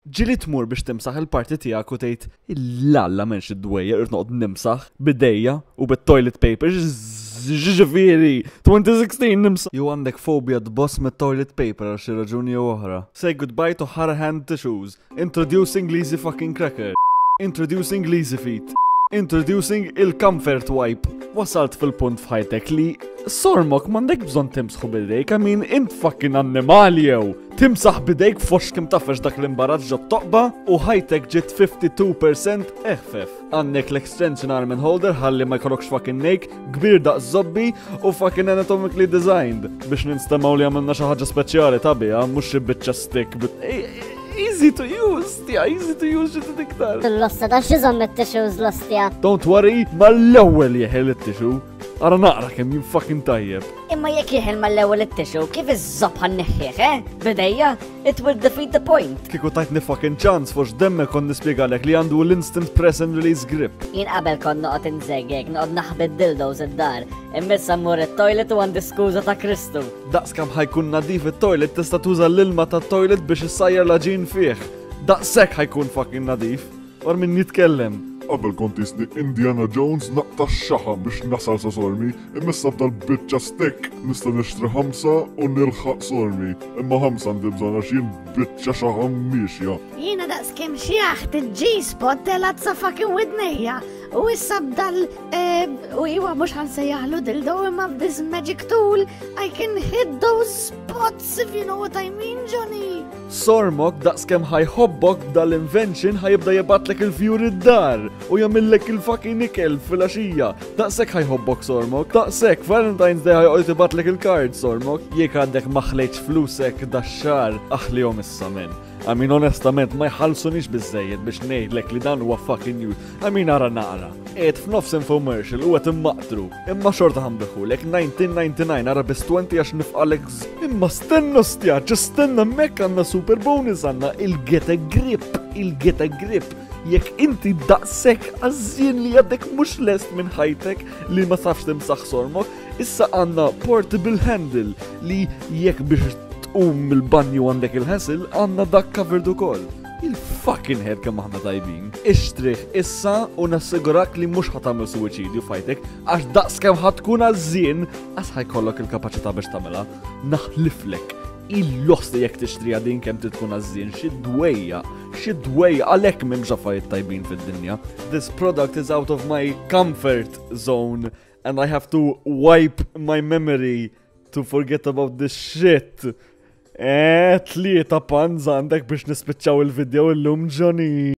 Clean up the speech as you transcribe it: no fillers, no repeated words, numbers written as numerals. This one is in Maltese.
Ġieli tmur biex timsaħ il-parti tiegħek u tgħid il-alla m'hemmx id-dwejjaq irrid noqgħod nimsaħ b'idejja u bit-toilet paper ġifieri 2016 nimsaħ. Jew għandek fobja tboss mit-toilet paper għal xi raġuni jew oħra. Say goodbye to hard hand tissues. Introducing Lazy fucking cracker. Introducing Lazy feet. Introducing il-comfort wipe. Wasalt fil-punt f'ħajtek li sormok m'għandek bżonn timsħu bidejk, I mean int fucking annimali jew. Timsaħ bidejk fox kim tafex dak l-imbarazz ġo toqba u ħajtek ġiet 52% eħfef. Għandek l-extension arm and holder ħalli ma jkollokx fucking nejk, kbir daqs zobbi u fucking anatomically designed biex ninstemaw li għamilna xi ħaġa speċjali tabija, mhux xi biċċa stick. Easy to use, tia, easy to use xi iktar. L-ossa da xizom it-tissues l-ostja. Don't worry, mal-ewwel jeħel it-tissue. Ara naqra kemm jien fucking tajjeb. Imma jekk jeħel mal-ewwel it-tissue, kif iż-żobb ħa nneħħih, eh? Bidejja, it will defeat the point. Kieku tajtni fucking ċans fux demme kon nispjegalek li għandu l-instant press and release grip. Jien qabel kont noqgħod inżegek, noqgħod naħbi dildos id-dar, imma issa mmur it-toilet u għandi skuża ta' Kristu. Daqs kemm ħa jkun nadif it-toilet tista' tuża l-ilma tat-toilet biex issajjar l-għaġin fih. Daqshekk ħa jkun fucking nadif. War min jitkellem. Qabel kont jisni Indiana Jones naqta' x-xaħam biex nasal sa sormi, imma issa b'dal-biċċa stick nista' nixtri ħamsa u nilħaq sormi. Imma ħamsa għandi bżonn għax jien biċċa xaħam miexja. Jiena daqs kemm xjaħt il-G-spot telgħet sa fucking widnejja. U issa b'dal eh, u iwa mhux ħansejjaħlu dildo imma b'this magic tool I can hit those spots if you know what I mean, Johnny. Sormok daqskemm ħa jħobbok b'dal-invention ħa jibda jibgħatlek il-fjuri d-dar u jagħmillek il-fucking ikel filgħaxija. Daqshekk ħa jħobbok sormok. Daqshekk Valentine's Day ħa joqgħod jibgħatlek il-card sormok. Jekk għadek ma ħlejtx flusek dax-xahar, aħlihom issa men. I mean onestament ma jħallsunix biżejjed biex ngħidlek li dan huwa fucking news. I mean ara naqra. Qiegħed f'nofs infomercial u qed immaqtru. Imma xorta ħanbiħulek 1999 ara biss 20 għax nifqalek Imma stenna stja, stenna mek għandna super bonus għandna il-get a grip, il-get a grip. Jekk inti daqshekk għażżien li għadek mhux lest minn ħajtek li ma tafx timsaħ sormok, issa għandna portable handle li jekk biex tqum mill-banju għandek il-hassle għandna dak covered ukoll. Il-fucking head kemm aħna tajbin. Ixtrih issa u nassigurak li mhux ħa tagħmel suwiċidju f'ħajtek għax daqs kemm ħa tkun għażżien għax ħa jkollok il-kapaċità biex tagħmilha. Naħliflek. Il-lost jekk tixtriha din kemm trid tkun għażżien xi dwejja, xi dwejja għalhekk m'hemmx affarijiet tajbin fid-dinja. This product is out of my comfort zone and I have to wipe my memory to forget about this shit. Eh, tlieta puns għandek biex nispiċċaw il-video illum Johnny.